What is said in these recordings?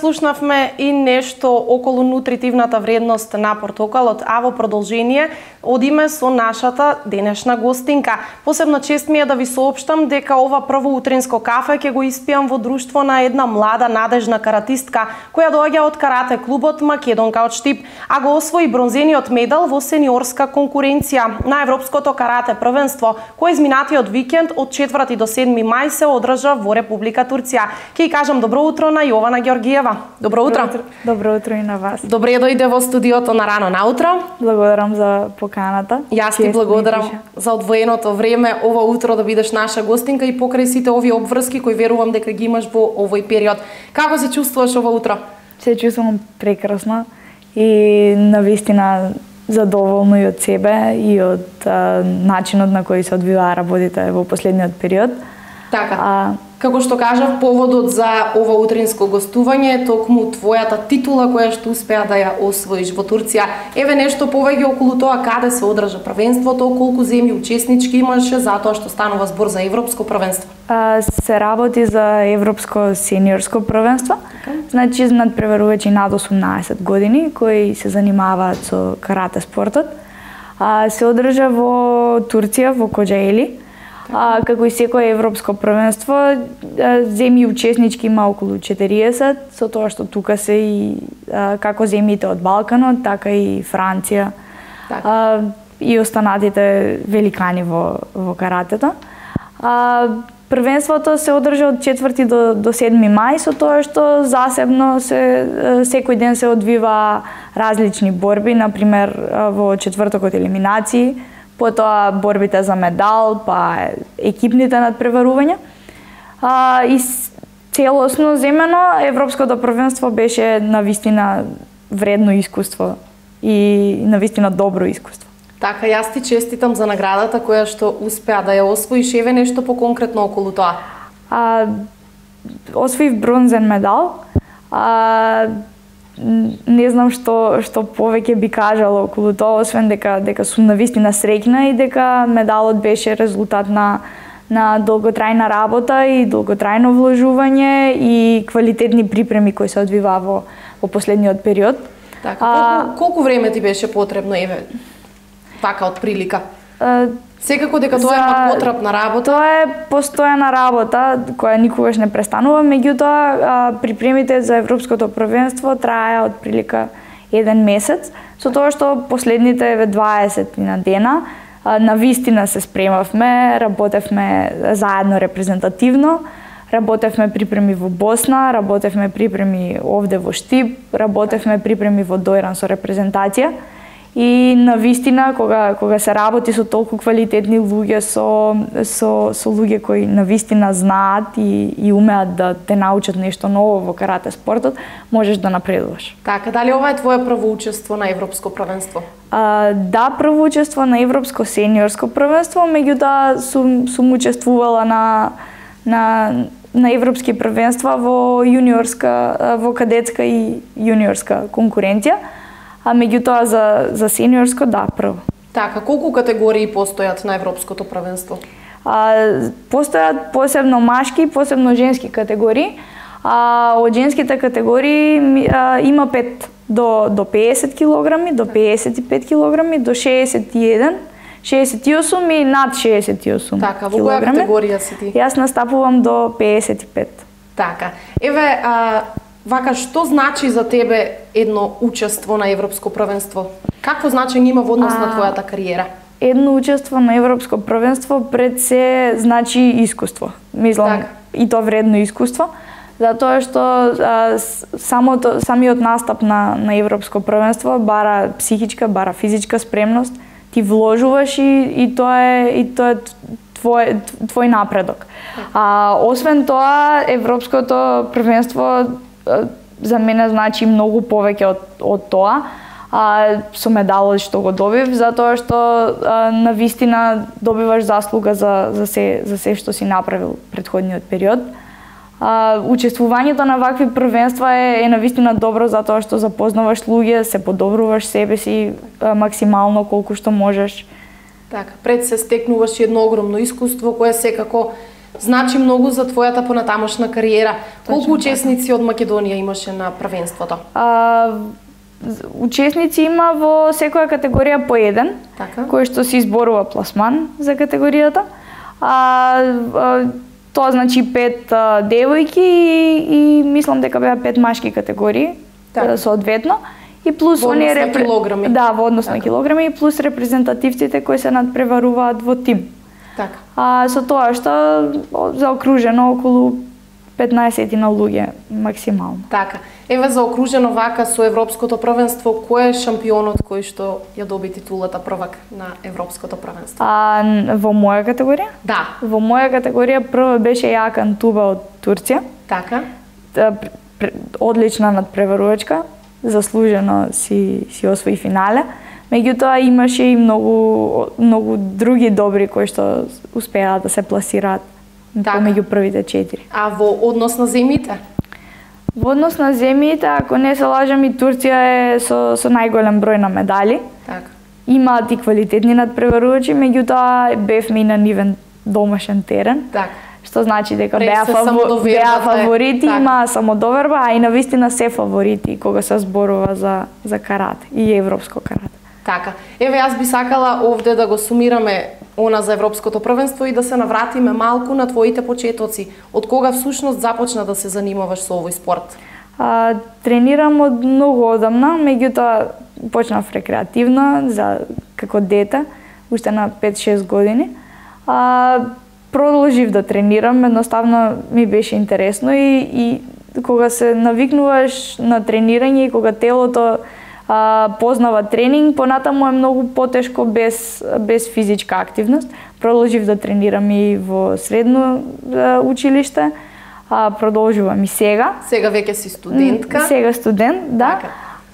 слушнавме и нешто околу нутритивната вредност на портокалот, а во продолжение одиме со нашата денешна гостинка. Посебно чест ми е да ви соопштам дека ова прво утринско кафе ќе го испијам во друштво на една млада надежна каратистка која доаѓа од карате клубот Македонка од Штип, а го освои бронзениот медал во сениорска конкуренција на Европското карате првенство, кој изминатиот викенд од 4 до 7 мај се одржа во Република Турција. Ќе кажам добро утро на Јована Георгиева. Добро утро. Добро утро и на вас. Добре дојде во студиото на рано наутро. Благодарам за поканата. Јас ти благодарам за одвоеното време ова утро да бидеш наша гостинка и покрај сите овие обврски кои верувам дека ги имаш во овој период. Како се чувствуваш ова утро? Се чувствувам прекрасно и навистина задоволно и од себе и од начинот на кој се одвиваа работите во последниот период. Така. Како што кажав, поводот за ова утринско гостување е токму твојата титула која што успеа да ја освоиш во Турција. Еве нешто повеќе околу тоа каде се одржа првенството, колку земји учеснички имаше, затоа што станува збор за европско првенство. Се работи за европско сениорско првенство. Значи надпреварувачи над 18 години кои се занимаваат со карате спортот. Се одржа во Турција, во Коџаели. Како и секое европско првенство, земји учеснички има околу 40, со тоа што тука се и како земјите од Балканот, така и Франција и останатите великани во каратето. Првенството се одржа од 4 до 7 мај, со тоа што засебно секој ден се одвива различни борби, например во четвртокот елиминации, потоа борбите за медал, па екипните надпреварувања. И целосно земено европското првенство беше навистина вредно искуство и навистина добро искуство. Така, јас ти честитам за наградата која што успеа да ја освоиш, еве нешто поконкретно околу тоа. Освоив бронзен медал. Не знам што повеќе би кажала околу тоа, освен дека сум навистина среќна и дека медалот беше резултат на долготрајна работа и долготрајно вложување и квалитетни припреми кои се одвиваа во последниот период. Така, колку време ти беше потребно, еве, така од прилика? Секако дека тоа е потребна работа. Тоа е постојана работа која никогаш не престанува, меѓутоа припремите за европското првенство траја од прилика 1 месец, со тоа што последните 20 на дена навистина се спремавме, работевме заедно репрезентативно, работевме припреми во Босна, работевме припреми овде во Штип, работевме припреми во Дојран со репрезентација. И навистина кога се работи со толку квалитетни луѓе, со луѓе кои навистина знаат и умеат да те научат нешто ново во карате спортот, можеш да напредуваш. Така, дали ова е твое прво учество на европско првенство? Да, прво учество на европско сениорско првенство, меѓутоа сум учествувала на европски првенства во јуниорска, во кадетска и јуниорска конкуренција. А меѓутоа за сениорско, да, прво. Така, колку категории постојат на европското првенство? Постојат посебно машки, посебно женски категории. Од женските категории има 5 до 50 килограми, до 55 килограми, до 61, 68 и над 68 така, во која категорија си ти? Јас настапувам до 55. Така, еве, вака, што значи за тебе едно учество на европско првенство? Какво значење има во однос на твојата кариера? Едно учество на европско првенство пред се значи искуство. Мислам, и то вредно искуство, затоа што самиот настап на европско првенство бара психичка, бара физичка спремност, ти вложуваш и тоа е твој напредок. Освен тоа, европското првенство за мене значи многу повеќе од тоа, со медалот што го добив, затоа што навистина добиваш заслуга за се што си направил претходниот период. Учествувањето на вакви првенства е навистина добро затоа што запознаваш луѓе, се подобруваш себе си максимално колку што можеш. Така, пред се стекнуваш едно огромно искуство кое секако значи многу за твојата понатамошна кариера. Колку учесници од Македонија имаше на првенството? Учесници има во секоја категорија по еден, кој што се изборува пласман за категоријата. Тоа значи 5 девојки и мислам дека беа 5 машки категории, соодветно. И плюс оние килограми. Да, во однос на килограми и плюс репрезентативците кои се надпреваруваат во тим. Со тоа што заокружено околу 15 на луѓе максимално. Така. Еве заокружено вака со европското првенство, кој е шампионот кој што ја доби титулата првак на европското првенство? Во моја категорија? Да. Во моја категорија прва беше Јакан Туба од Турција. Така. Одлична надпреварувачка, заслужено си освои финале. Меѓутоа имаше и многу други добри кои што успеа да се пласираат помеѓу првите 4. А во однос на земјите? Во однос на земјите, ако не се лажам, и Турција е со најголем број на медали. Така. Имаат и квалитетни надпреварувачи, меѓутоа бевме и на нивен домашен терен. Така. Што значи дека беа фаворити, има самодоверба, а и навистина се фаворити кога се зборува за карате и европско карате. Така. Еве јас би сакала овде да го сумираме она за европското првенство и да се навратиме малку на твоите почетоци. Од кога всушност започна да се занимаваш со овој спорт? Тренирам од многу одамна, меѓутоа почнав рекреативно како дете, уште на 5-6 години. Продолжив да тренирам, едноставно ми беше интересно и кога се навикнуваш на тренирање и кога телото познава тренинг, понатаму е многу потешко без физичка активност. Продолжив да тренирам и во средно училиште, продолжувам и сега. Сега веќе си студентка? Сега студент, да.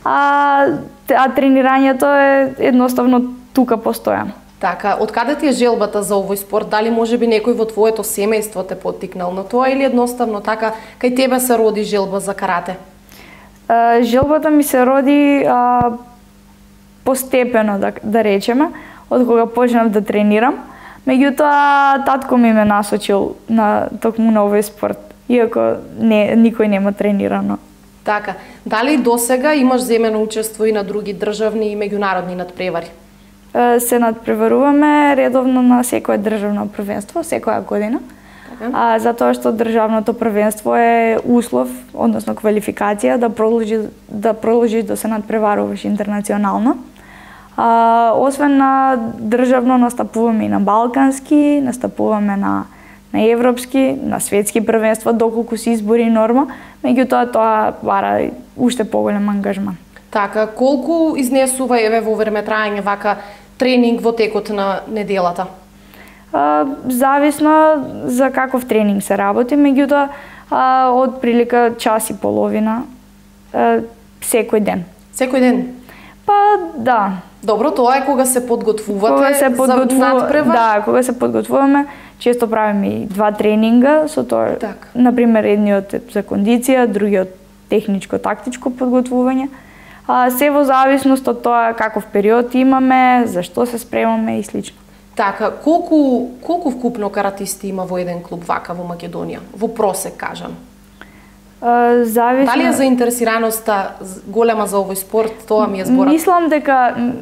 А тренирањето е едноставно тука постојано. Така, од каде ти е желбата за овој спорт? Дали можеби некој во твоето семејство те поттикнал на тоа или едноставно така кај тебе се роди желба за карате? Желбата ми се роди постепено, да речеме, од кога почнав да тренирам. Меѓутоа, татко ми ме насочил токму на овој спорт, иако никој нема тренирано. Така, дали досега имаш земено учество и на други државни и меѓународни надпревари? Се надпреваруваме редовно на секое државно првенство, секоја година. Затоа што државното првенство е услов, односно квалификација да продолжиш да се надпреваруваш интернационално. Освен на државно настапуваме и на балкански, настапуваме на европски, на светски првенства, доколку се избори норма, меѓутоа тоа бара уште поголем ангажман. Така, колку изнесува еве во време трајање вака тренинг во текот на неделата? Зависно за каков тренинг се работи, меѓутоа од прилика час и половина секој ден. Секој ден? Да. Добро, тоа е кога се подготвувате за надпревар? Да, кога се подготвуваме, често правиме и 2 тренинга со тоа. Например, едниот за кондиција, другиот техничко-тактичко подготвување. Се во зависност од тоа каков период имаме, за што се спремаме и слично. Така, колку вкупно каратисти има во еден клуб вака во Македонија? Во просек, кажам. Зависно... Дали е заинтересираноста голема за овој спорт? Тоа ми е зборот.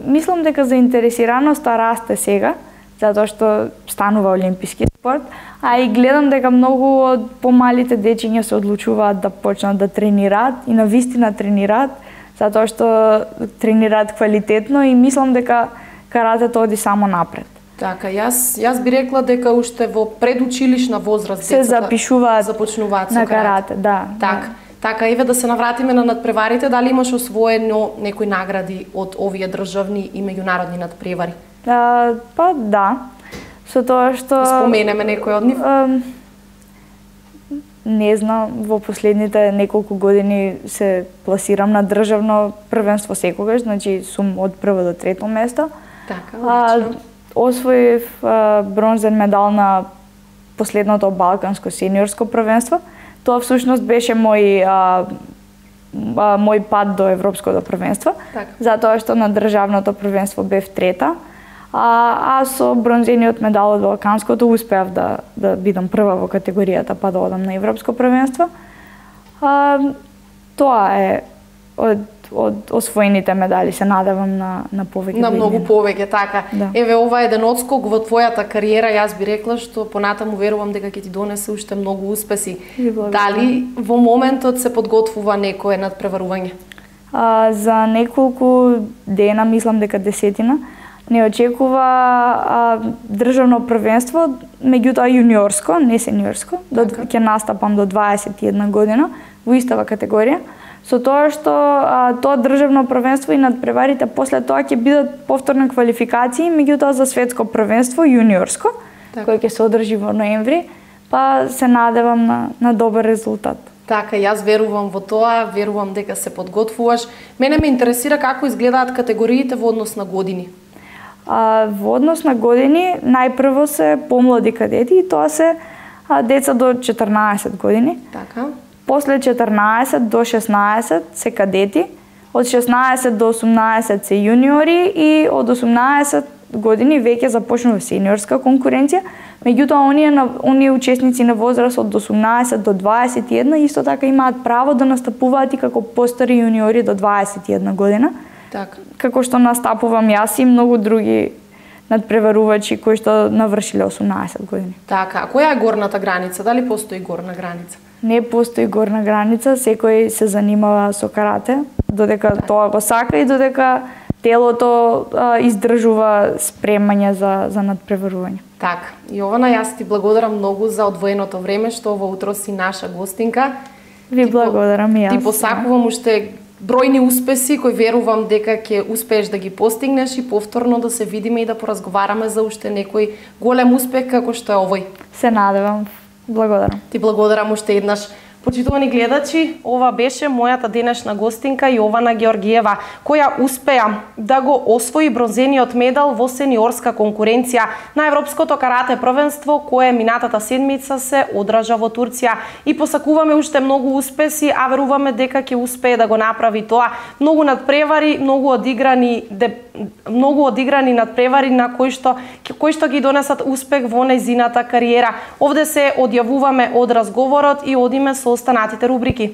Мислам дека заинтересираноста расте сега, затоа што станува олимписки спорт, а и гледам дека многу од помалите дечиња се одлучуваат да почнат да тренираат и навистина тренираат, затоа што тренираат квалитетно и мислам дека каратето оди само напред. Така, јас би рекла дека уште во предучилишна возраст се запишуваат започнуваат на карате, да. Така, еве да се навратиме на надпреварите, дали имаш освоено некои награди од овие државни и меѓународни надпревари? Да. Со тоа што споменеме некој од нив? Не знам, во последните неколку години се пласирам на државно првенство секогаш, значи сум од прво до трето место. Така, освоив бронзен медал на последното балканско сениорско првенство. Тоа всушност беше мој пат до европското првенство, затоа што на државното првенство бев трета, а со бронзениот медал од Балканското успеав да бидам прва во категоријата па да одам на Европско првенство. Тоа е од освоените медали, се надевам на повеќе. На многу повеќе, така. Да. Еве, ова е еден одскок во твојата кариера, јас би рекла што понатаму верувам дека ќе ти донесе уште многу успеси. Дали во моментот се подготвува некое надпреварување? За неколку дена, мислам дека 10, не очекува државно првенство, меѓутоа јуниорско, не сениорско, ќе настапам до 21 година во истава категорија. Со тоа што тоа државно првенство и надпреварите после тоа ќе бидат повторни квалификации, меѓутоа за светско првенство јуниорско, кој ќе се одржи во ноември, па се надевам на добар резултат. Така, јас верувам во тоа, верувам дека се подготвуваш. Мене ме интересира како изгледаат категориите во однос на години. Во однос на години, најпрво се помлади кадети и тоа се деца до 14 години. Така. После 14 до 16 се кадети, од 16 до 18 се јуниори и од 18 години веќе започнува сениорска конкуренција. Меѓутоа, оние учесници на возраст од 18 до 21 исто така имаат право да настапуваат и како постари јуниори до 21 година. Така. Како што настапувам јас и многу други надпреварувачи кои што навршиле 18 години. Така, а која е горната граница? Дали постои горна граница? Не постои горна граница, секој се занимава со карате, додека тоа го сака и додека телото издржува спремање за надпреварување. Така, Јована, јас ти благодарам многу за одвоеното време што во утро си наша гостинка. Ви благодарам и јас. Ти посакувам уште бројни успеси кои верувам дека ќе успееш да ги постигнеш и повторно да се видиме и да поразговараме за уште некој голем успех како што е овој. Се надевам. Благодарам. Ти благодарам уште еднаш. Почитувани гледачи, ова беше мојата денешна гостинка Јована Георгиева, која успеа да го освои бронзениот медал во сениорска конкуренција на Европското карате првенство, кое минатата седмица се одржа во Турција. И посакуваме уште многу успеси, а веруваме дека ќе успее да го направи тоа. Многу надпревари, многу одиграни надпревари на кои што ги донесат успех во нејзината кариера. Овде се одјавуваме од разговорот и одиме со останатите рубрики.